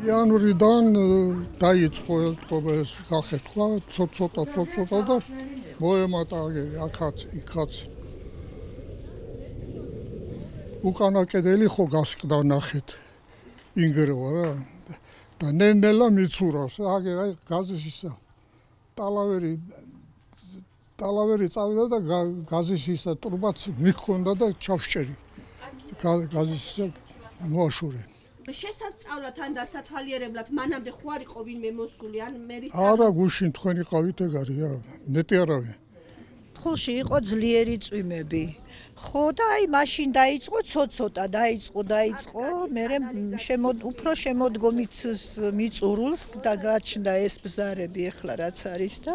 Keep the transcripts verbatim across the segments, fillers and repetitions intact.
იანვრიდან დაიწყო ელტყობა ეს გახეთქვა, ცოტ-ცოტა, ცოტ-ცოტა და მოემატა აგერი, აქაც, იქაც. უკანა კედელი ხო გასკდა ნახეთ. ინგრევა რა. და ნელ-ნელა მიცურავს, აგერ აი გაზის ისა. ტალავერი ტალავერი წავიდა და გაზის ისა ტრუბაც მიქონდა და ჩავშჭერი. გაზის ისა მოაშურე. შესასწავლად ან დასათვალიერებლად მანამდე ხო არ იყო ვინმე მოსული ან მერის არა გუშინ თქვენი ყავით ეგარია ნეტი არავინ ფულში იყო ძლიერი წვიმები ხო და აი მაშინ დაიწყო ცოტ-ცოტა დაიწყო დაიწყო მე შემოდ უფრო შემოდგომით მიწურულს და გაჩნდა ეს ბზარები ახლა რაც არის და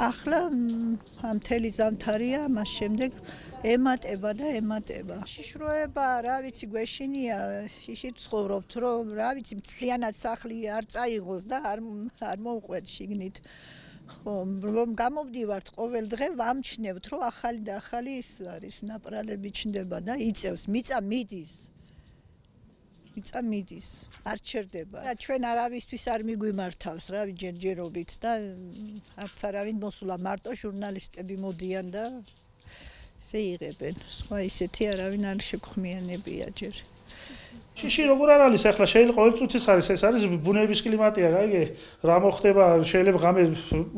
ახლა ამ მთელი ზამთარია მას შემდეგ ემატება და ემატება. შიშროება, რა ვიცი, გვეშინია, შიშით ცხოვრობთ, რომ რა ვიცი, მთლიანად სახლი არ წაიღოს და არ არ მოუყვეთ შიგნით. ხო, რომ გამოვდივართ ყოველ დღე ვამჩნევთ, რომ ახალი და ახალი ის არის, ნაპრალები ჩნდება და იწევს, მიწა მიდის. მიწა მიდის, არ ჩერდება. ჩვენ არავისთვის არ მიგვიმართავს, რა ვიცი, ჯერჯერობით და არც არავინ მოსულა, მარტო ჟურნალისტები მოდიან და შეიღებენ. სხვა ისეთი არავინ არ შეგხმიანებია ჯერ. შიში როგორ არ არის ახლა შეიძლება ყოველ წუთის არის ეს არის ბუნების კლიმატია გაიგე რა მოხდება შეიძლება ღამე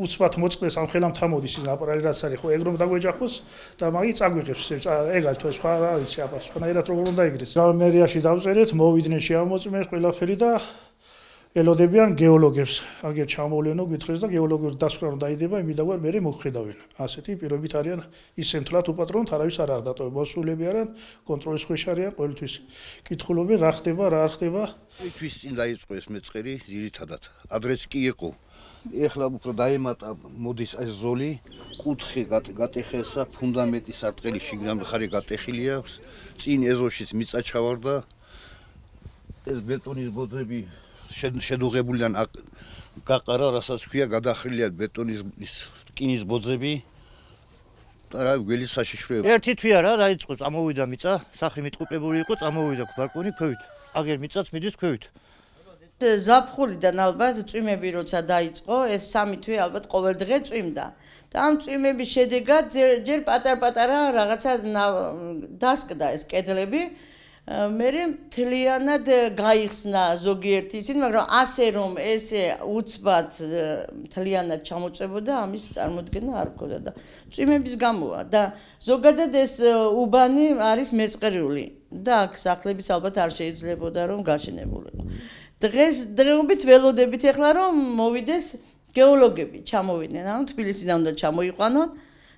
უცბად მოწყდეს ამ ხელამ თამოდის ნაპრალი რაც არის ხო ეგ რომ დაგვეჯახოს და მაგით წაგვიღებს ეგ თუ სხვა რა ვიცი აბა სხვანაირად როგორ უნდა იგდეს მერიაში დავწერეთ მოვიდნენ შეამოწმეს ყველაფერი და ელოდებიან გეოლოგებს აგერ ჩამოვლენო გითხრეს და გეოლოგიური დასკვნა რომ დაიდება იმიდაგვარ მე მოხდავენ ასეთი პირობით არიან ისენ თლათ უპატრონთ არავის არ აღდატო მოსულები არიან კონტროლის ქვეშ არიან ყოველთვის კითხულობენ რა ხდება რა არ ხდება თვის წინ დაიწყო ეს მეწყერი ძირითადად ადრესი კი იყო ეხლა უფრო დაემატა მოდის ეს ზოლი კუთხე გატეხესა ფუნდამენტის არტყელი შიგნამდე ხარი გატეხილი აქვს წინ ეზოშიც მიწა ჩავარდა ეს ბეტონის ბოძები შედუღებულიდან გაყარა, რასაც ქვია გადახრილია ბეტონის რკინის ბოძები და რა გველი საშიშროება. ერთი თვია რა დაიწყო, წამოვიდა მიწა, სახლი მიტყუპებული იყო, წამოვიდა ბალკონი ქვევით. აგერ მიწაც მიდის ქვევით. ზაფხულიდან ალბათ წვიმები როცა დაიწყო, ეს სამი თვე ალბათ ყოველ დღე წვიმდა. და ამ წვიმების შედეგად ჯერ პატარ-პატარა რაღაცა დასკდა ეს კედლები. მერე მთლიანად გაიხსნა ზოგიერთი ისინი, მაგრამ ასე რომ ესე უცბად მთლიანად ჩამოწებოდა, ამის წარმოქმნა არ ჰქონდა და წვიმების გამოა და ზოგადად ეს უბანი არის მეწყერული და აქ სახლებიც ალბათ არ შეიძლებოდა რომ გაშენებულიყო. დღეს დღეობით ველოდებით ახლა რომ მოვიდეს გეოლოგები, ჩამოვიდნენ, ანუ თბილისიდან უნდა ჩამოიყვანონ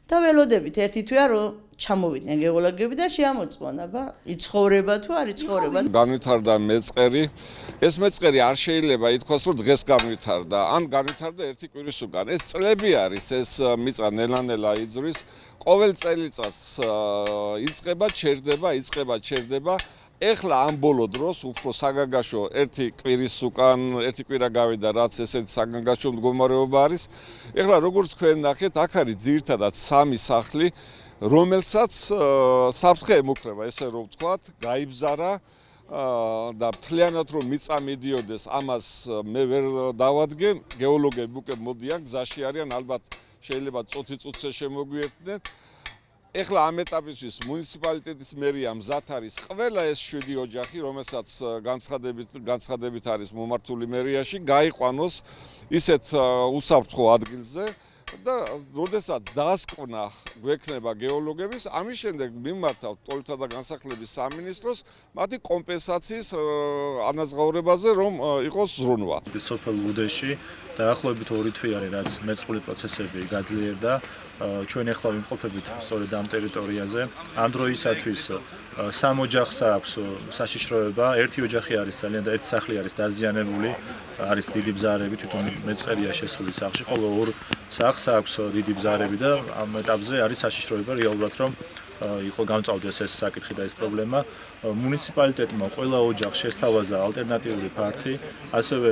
და ველოდებით ერთი თვეა რომ ჩამოვიდნენ გეოლოგები და შეამოწმონ, აბა, იცხოვრება თუ არ იცხოვრება. განვითარდა მეწყერი. ეს მეწყერი არ შეიძლება ითქვას, რომ დღეს განვითარდა, ან განვითარდა ერთი კვირის უკან. ეს წლები არის, ეს მიწა ნელა-ნელა იძვრის. ყოველ წელიწადს იწყება, ჩერდება, იწყება, ჩერდება. ეხლა ამ ბოლო დროს უფრო საგანგაშო ერთი კვირის უკან, ერთი კვირა გავიდა, რაც ესეთი საგანგაშო მდგომარეობა არის. ეხლა როგორც თქვენ ნახეთ, აქ არის ძირითადად სამი სახლი რომელსაც საფრთხე ემუქრება, ესე რომ ვთქვათ, გაიბზარა და მთლიანად რომ მიწა მიდიოდეს, ამას მე ვერ დავადგენ, გეოლოგები უკვე მოდიან, გზაში არიან, ალბათ შეიძლება წუთი წუთზე შემოგვიერთდნენ. ეხლა ამ ეტაპისთვის მუნიციპალიტეტის მერია მზად არის ყველა ეს შვიდი ოჯახი, რომელსაც განცხადებით განცხადებით არის მომართული მერიაში, გაიყვანოს ისეთ უსაფრთხო ადგილზე. და როდესაც დასკვნა გვექნება გეოლოგების, ამის შემდეგ მიმართავთ ტოლთა და განსახლების სამინისტროს მათი კომპენსაციის ანაზღაურებაზე, რომ იყოს ზრუნვა. სოფელ უდეში დაახლოებით ორი თვე არის, რაც მეწყრული პროცესები გაძლიერდა. ჩვენ ახლა ვიმყოფებით სწორედ ამ ტერიტორიაზე. ამ დროისათვის სამ ოჯახს აქვს საშიშროება. ერთი ოჯახი არის ძალიან და ერთი სახლი არის დაზიანებული. არის დიდი ბზარები, თვითონ მეწყერია შესული სახლში, ხოლო ორ სახლს აქვს დიდი ბზარები და ამ ეტაპზე არის საშიშროება რეალურად, რომ იყო გამწავდეს ეს საკითხი და ეს პრობლემა. მუნიციპალიტეტმა ყველა ოჯახს შესთავაზა ალტერნატიული ფართი, ასევე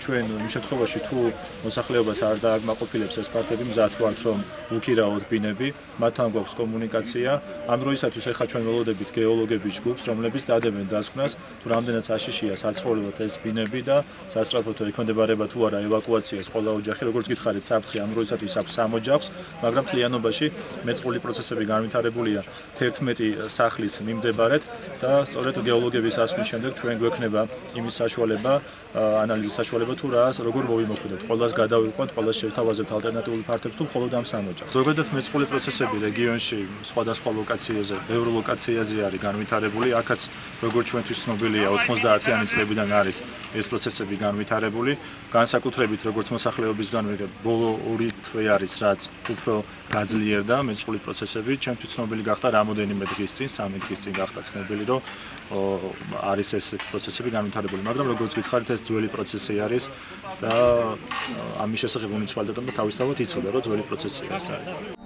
ჩვენ იმ შემთხვევაში თუ მოსახლეობას არ დააკმაყოფილებს ეს ფართები, მზად ვართ რომ უქირაოთ ბინები, მათთან გვაქვს კომუნიკაცია. ამ დროისათვის ახლა ჩვენ ველოდებით გეოლოგების ჯგუფს, რომლებიც დადებენ დასკვნას, თუ რამდენად საშიშია საცხოვრებლად ეს ბინები და სასწრაფოდ ექვემდებარება თუ არა ევაკუაციას ყველა ოჯახი, როგორც გითხარით, საფრთხე ამ დროისათვის აქვს სამ ოჯახს, მაგრამ მთლიანობაში მეწყრული პროცესები განვითარებულია თერთმეტი სახლის მიმდებარედ და სწორედ გეოლოგების ასვლის შემდეგ ჩვენ გვექნება იმის საშუალება, ანალიზის საშუალება თუ რა როგორ მოვიმოქმედოთ. ყველას გადავიყვანთ, ყველას შევთავაზებთ ალტერნატიული ფართებს თუ მხოლოდ ამ სამ ოჯახს. ზოგადად მეწყრული პროცესები რეგიონში სხვადასხვა ლოკაციებზე, ბევრ ლოკაციაზე არის განვითარებული. აქაც როგორც ჩვენთვის ცნობილია, ოცდაათიანი წლებიდან არის ეს პროცესები განვითარებული. განსაკუთრებით როგორც მოსახლეობის განვითარება, ბოლო ორი თვე არის, რაც უფრო გაძლიერდა მეწყრული პროცესები. ჩვენთვის ცნობილი გახდა რამოდენიმე დღის წინ, სამი დღის წინ გახდა ცნობილი, რომ არის ეს პროცესები განვითარებული, მაგრამ როგორც გითხარით, ეს ძველი პროცესი არის და ამის შესახებ მუნიციპალიტეტმა თავისთავად იცოდა, რომ ძველი პროცესია ეს არის.